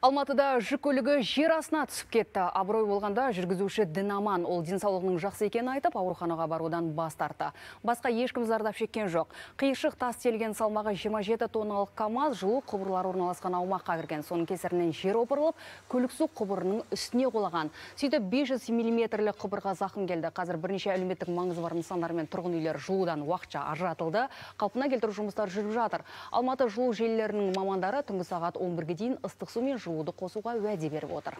Алматыда жүк көлігі жер астына түсіп кетті. Абырой болғанда жүргізуші дінаман, ол денсаулығының жақсы екенін айтып, ауруханаға барудан бас тартты. Басқа ешкім зардап шеккен жоқ. Қиыршық тас телген салмағы 27 тонналық КАМАЗ жылу құбырлар орналасқан аумаққа кірген. Соның кесірінен жер опырылып, көлік су құбырының үстіне құлаған. Сөйтіп 500 мм құбырға зақым келді. Қазір бірнеше әлеуметтік маңызы бар нысандар мен тұрғын үйлер жылудан уақытша ажыратылды. Қалпына келтіру жұмыстары жүріп жатыр. Алматы жылу желілерінің мамандары түнгі сағат 11-ге дейін ыстық су мен жылуды қосуға уәде беріп отыр.